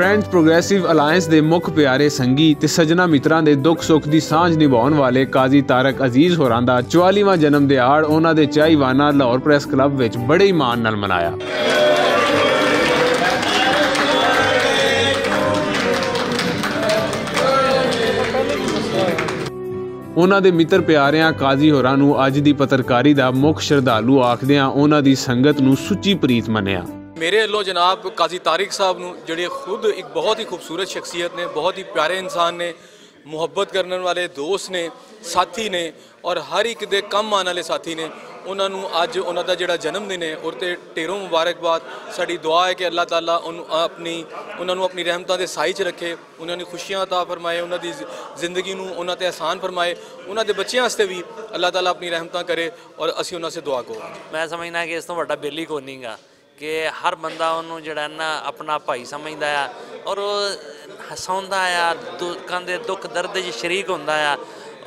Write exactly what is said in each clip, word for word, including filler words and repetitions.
فرینڈز پروگریسو الائنس دے مکھ پیارے سنگی تے سجنا متراں دے دکھ سکھ دی سانجھ نبھاؤن والے قاضی طارق عزیز ہوراں دا چوالیواں جنم دیہاڑ انہاں دے چاہیوانہ لاہور پریس کلب وچ بڑے ایمان نال منایا۔ انہاں دے متر پیاریاں قاضی ہوراں نوں اج دی پترکاری دا مکھ شردھالو آکھدیاں انہاں دی سنگت نوں سچی پریت منیا۔ میرے ولوں جناب قاضی طارق صاحب نوں، جڑے خود ایک بہت ہی خوبصورت شخصیت نے، بہت ہی پیارے انسان نے، محبت کرن والے دوست نے، ساتھی نے، اور ہر ایک دے کم آن والے ساتھی نے، انہاں نوں اج انہاں دا جڑا جنم دن ہے، اور تے ڈھیروں مبارکباد۔ ساڈی دعا ہے کہ اللہ تعالیٰ انہاں اپنی، انہاں نوں اپنی رحمتاں دے سائے چ رکھے، انہاں نوں خوشیاں عطا فرمائے، انہاں دی ز-، زندگی نوں انہاں تے آسان فرمائے، انہاں دے بچیاں واسطے بھی اللہ تعالیٰ اپنی رحمتاں کرے، اور اسی انہاں سے دعا کو۔ میں سمجھنا کہ اس تو وڈا بل ہی کوئی نہیں گا کہ ہر بندہ انہوں جڑا نا اپنا بھائی سمجھدا ہے، اور وہ ہساوندا ہے، لوکاں دے دکھ درد وچ شریک ہوندا ہے،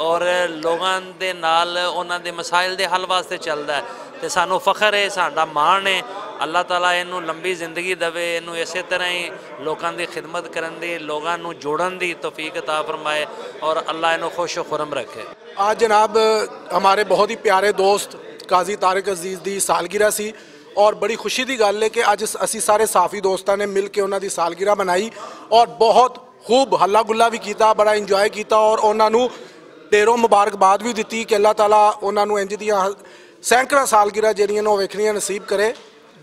اور لوگاں دے نال انہاں دے مسائل دے حل واسطے چلدا ہے۔ تے سانوں فخر ہے، ساڈا مان ہے۔ اللہ تعالیٰ اینوں لمبی زندگی دے، اینوں اسے طرح ہی لوکاں دی خدمت کرن دی، لوگاں نوں جوڑن دی توفیق عطا فرمائے، اور اللہ اینوں خوش و خرم رکھے۔ آج جناب، ہمارے بہت ہی پیارے دوست قاضی طارق عزیز دی سالگرہ سی، اور بڑی خوشی دی گل ہے کہ اج اس-، اسی سارے صحافی دوستاں نے مل کے انہاں دی سالگرہ منائی، اور بہت خوب ہلا گلا بھی کیتا، بڑا انجوائے کیتا، اور انہاں نوں ڈھیروں مبارکباد بھی دتی کہ اللہ تعالیٰ انہاں نوں انج دیاں سینکڑاں سالگرہ جہڑیاں نے وہ ویکھنیاں نصیب کرے۔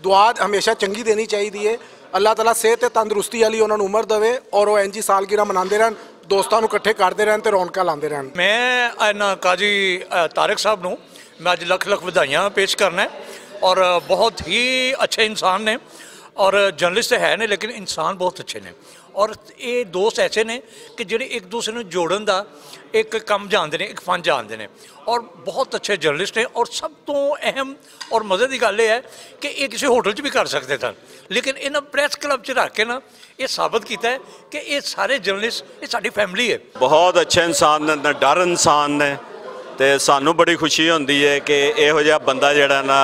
دعا ہمیشہ چنگی دینی چاہیدی ہے۔ اللہ تعالیٰ صحت تے تندرستی والی انہاں نوں عمر دے، اور وہ انج ہی سالگرہ مناندے رہن، دوستاں نوں اکٹھے کردے رہن تے رونقاں لاندے رہن۔ میں انہاں قاضی، اہ، طارق صاحب نوں میں اج لکھ لکھ ودھائیاں پیش کرنا ہے، اور بہت ہی اچھے انسان نے، اور جرنلسٹ ہے نے لیکن انسان بہت اچھے نے، اور یہ دوست ایسے نے کہ جڑے ایک دوسرے نوں جوڑن دا ایک کم جاندے نے، ایک فن جاندے نے، اور بہت اچھے جرنلسٹ نے۔ اور سب تو اہم اور مزے دی گل یہ ہے کہ یہ کسی ہوٹل چ بھی کر سکتے سن، لیکن انہاں پریس کلب چ رکھ کے نا یہ ثابت کیتا ہے کہ یہ سارے جرنلسٹ، یہ ساری فیملی ہے۔ بہت اچھے انسان نے، نہ ڈر انسان نے، تے سانوں بڑی خوشی ہوندی ہے کہ ایہو جہا بندہ جڑا نا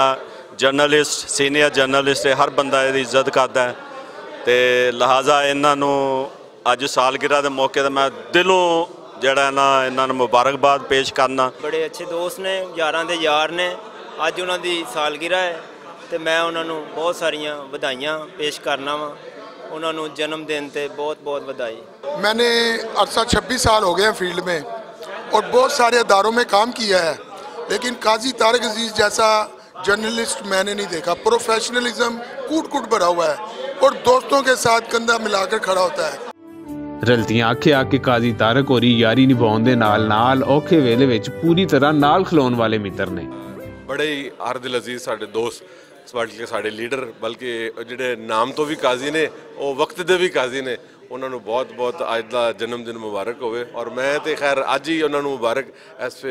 جرنلسٹ، سینئر جرنلسٹ ہے، ہر بندہ ایہدی عزت کردا ہے، تے لہذا انہاں نوں اج سالگرہ دے موقع تے میں دلوں جڑا نا انہاں نوں مبارکباد پیش کرنا۔ بڑے اچھے دوست نے، یاراں دے یار نے۔ اج انہاں دی سالگرہ ہے، تے میں انہاں نوں بہت ساریاں ودھائیاں پیش کرنا وا۔ انہاں نوں جنم دن تے بہت بہت ودھائی۔ میں نے عرصہ چھبیس سال ہو گئے ہیں فیلڈ میں، اور بہت سارے اداروں میں کام کیا ہے، لیکن قاضی طارق عزیز جیسا جرنلسٹ میں نے نہیں دیکھا۔ پروفیشنلزم کوٹ کوٹ بھرا ہوا ہے، اور دوستوں کے ساتھ کندھا ملا کر کھڑا ہوتا ہے۔ رلتیاں آکھیا کہ قاضی طارق ہوری یاری نبھاؤن دے نال نال اوکھے ویلے وچ پوری طرح نال کھلون والے متر نے۔ بڑے ہی ہر دل عزیز ساڈے دوست، بلکہ ساڈے لیڈر، بلکہ جڑے نام تو بھی قاضی نے، وہ وقت دے بھی قاضی نے۔ انہاں نوں بہت بہت اج دا جنم دن مبارک ہوئے، اور میں تے خیر اج ہی انہاں نوں مبارک، اس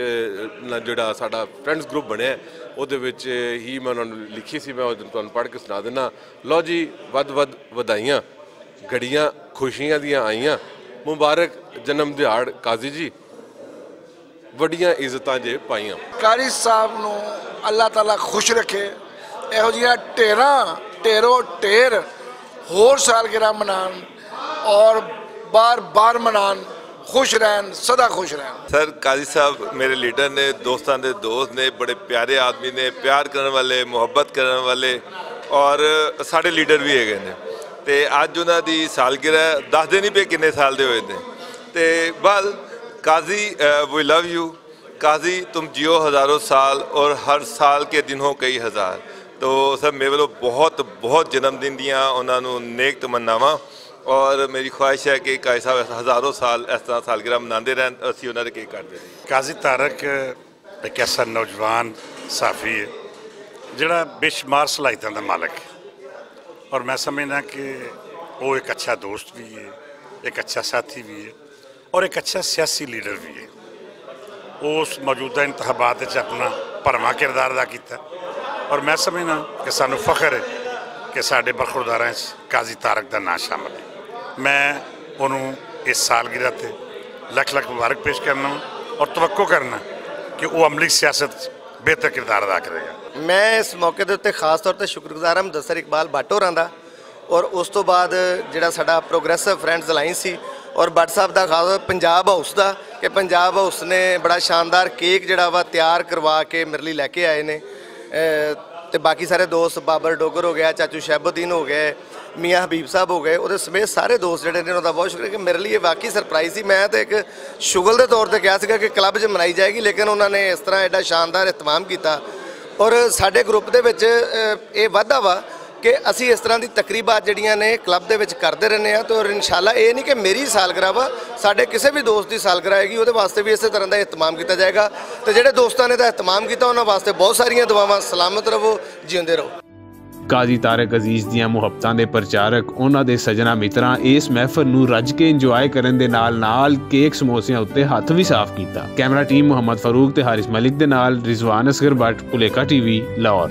جڑا ساڈا فرینڈز گروپ بنیا ہے، اودے وچ ہی میں انہاں نوں لکھی سی، میں او تانوں پڑھ کے سنا دینا۔ لو جی، ود ود ودھائیاں، گھڑیاں خوشیاں دیاں آئیاں، مبارک جنم دیہاڑ قاضی جی، وڈیاں عزتاں جے پائیاں۔ قاری صاحب نوں اللہ تعالیٰ خوش رکھے، ایہو جیاں ٹیراں، ٹیرو ٹیر ہور سالگرہ منان اور بار بار منان، خوش رہن، سدا خوش رہن۔ سر، قاضی صاحب میرے لیڈر نے، دوستاں دے دوست نے، بڑے پیارے آدمی نے، پیار کرن والے، محبت کرن والے، اور ساڈے لیڈر بھی ہے گئے نے۔ تے اج انہاں دی سالگرہ، دس دن ہی پہ کنے سال دے ہوئے نے۔ تے بل قاضی، وی لو یو۔ قاضی، تم جیو ہزاروں سال اور ہر سال کے دن ہو کئی ہزار۔ تو سر، میرے ولوں بہت بہت جنم دن دیاں انہاں نوں نیک تمناواں، اور میری خواہش ہے کہ قاضی صاحب ہزاروں سال اس طرح سالگرہ مناندے رہن، اسی انہاں دے کیک کٹدے رہیے۔ قاضی طارق ایک ایسا نوجوان صحافی ہے جڑا بے شمار صلاحیتاں دا مالک ہے، اور میں سمجھنا کہ وہ ایک اچھا دوست بھی ہے، ایک اچھا ساتھی بھی ہے، اور ایک اچھا سیاسی لیڈر بھی ہے۔ اس موجودہ انتخابات وچ اپنا بھرواں کردار ادا کیتا، اور میں سمجھنا کہ سانوں فخر ہے کہ ساڈے برخورداراں وچ قاضی طارق دا نام شامل ہے۔ میں انہوں اس سالگرہ تے لکھ لکھ مبارک پیش کرنا ہوں، اور توقع کرنا کہ وہ عملی سیاست بہتر کردار ادا کرے گا۔ میں اس موقع دے اُتے خاص طور تے شکرگزار ہاں مدثر اقبال بٹ ہوراں دا، اور اس ਤੋਂ ਬਾਅਦ ਜਿਹੜਾ ਸਾਡਾ ਪ੍ਰੋਗਰੈਸਿਵ ਫਰੈਂਡਸ ਅਲਾਈਅੰਸ ਸੀ, ਔਰ ਬਟ ਸਾਹਿਬ ਦਾ ਖਾਸ, ਪੰਜਾਬ ਹਾਊਸ ਦਾ, ਕਿ ਪੰਜਾਬ ਹਾਊਸ ਨੇ ਬੜਾ ਸ਼ਾਨਦਾਰ ਕੇਕ ਜਿਹੜਾ ਵਾ ਤਿਆਰ ਕਰਵਾ ਕੇ ਮੇਰੇ ਲਈ ਲੈ ਕੇ ਆਏ ਨੇ। ਅਹ, ਤੇ ਬਾਕੀ ਸਾਰੇ ਦੋਸਤ, ਬਾਬਰ ਡੋਗਰ ਹੋ ਗਿਆ, ਚਾਚੂ ਸ਼ਹਿਬੁੱਦੀਨ ਹੋ ਗਏ, ਮੀਆਂ ਹਬੀਬ ਸਾਹਿਬ ਹੋ ਗਏ, ਉਹਦੇ ਸਮੇਤ ਸਾਰੇ ਦੋਸਤ ਜਿਹੜੇ ਨੇ, ਉਹਦਾ ਬਹੁਤ ਸ਼ੁਕਰੀਆ ਕਿ ਮੇਰੇ ਲਈ ਇਹ ਵਾਕਈ ਸਰਪ੍ਰਾਈਜ਼ ਸੀ। ਮੈਂ ਤਾਂ ਇੱਕ ਸ਼ੁਗਲ ਦੇ ਤੌਰ ਤੇ ਕਿਹਾ ਸੀਗਾ ਕਿ ਕਲੱਬ 'ਚ ਮਨਾਈ ਜਾਏਗੀ, ਲੇਕਿਨ ਉਹਨਾਂ ਨੇ ਇਸ ਤਰ੍ਹਾਂ ਐਡਾ ਸ਼ਾਨਦਾਰ ਇਤਮਾਮ ਕੀਤਾ। ਔਰ ਸਾਡੇ ਗਰੁੱਪ ਦੇ ਵਿੱਚ ਅਹ, ਇਹ ਵਾਧਾ ਵਾ ਕਿ ਅਸੀਂ ਇਸ ਤਰ੍ਹਾਂ ਦੀ ਤਕਰੀਬਾਤ ਜਿਹੜੀਆਂ ਨੇ ਕਲੱਬ ਦੇ ਵਿੱਚ ਕਰਦੇ ਰਹਿੰਦੇ ਆ, ਤੇ ਔਰ ਇਨਸ਼ਾਅੱਲਾ ਇਹ ਨਹੀਂ ਕਿ ਮੇਰੀ ਸਾਲਗਿਰਾ ਵਾ, ਸਾਡੇ ਕਿਸੇ ਵੀ ਦੋਸਤ ਦੀ ਸਾਲਗਿਰਾ ਆਏਗੀ, ਉਹਦੇ ਵਾਸਤੇ ਵੀ ਇਸੇ ਤਰ੍ਹਾਂ ਦਾ ਇਤਮਾਮ ਕੀਤਾ ਜਾਏਗਾ। ਤੇ ਜਿਹੜੇ ਦੋਸਤਾਂ ਨੇ ਦਾ ਇਤਮਾਮ ਕੀਤਾ, ਉਹਨਾਂ ਵਾਸਤੇ ਬਹੁਤ ਸਾਰੀਆਂ ਦੁਆਵਾਂ। ਸਲਾਮਤ ਰਹੋ, ਜਿਉਂਦੇ ਰਹੋ। ਕਾਜ਼ੀ ਤਾਰਕ ਅਜ਼ੀਜ਼ ਦੀਆਂ ਮੁਹੱਬਤਾਂ ਦੇ ਪ੍ਰਚਾਰਕ, ਉਹਨਾਂ ਦੇ ਸੱਜਣਾ ਮਿੱਤਰਾਂ ਇਸ ਮਹਿਫਲ ਨੂੰ ਰੱਜ ਕੇ ਇੰਜੋਏ ਕਰਨ ਦੇ ਨਾਲ ਨਾਲ ਕੇਕ ਸਮੋਸਿਆਂ ਉੱਤੇ ਹੱਥ ਵੀ ਸਾਫ਼ ਕੀਤਾ। ਕੈਮਰਾ ਟੀਮ ਮੁਹੰਮਦ ਫਾਰੂਕ ਤੇ ਹਾਰਿਸ ਮਲਿਕ ਦੇ ਨਾਲ ਰਿਜ਼ਵਾਨ ਅਸਗਰ ਬੱਟ, ਪੁਲੇਕਾ ਟੀਵੀ, ਲਾਹੌਰ।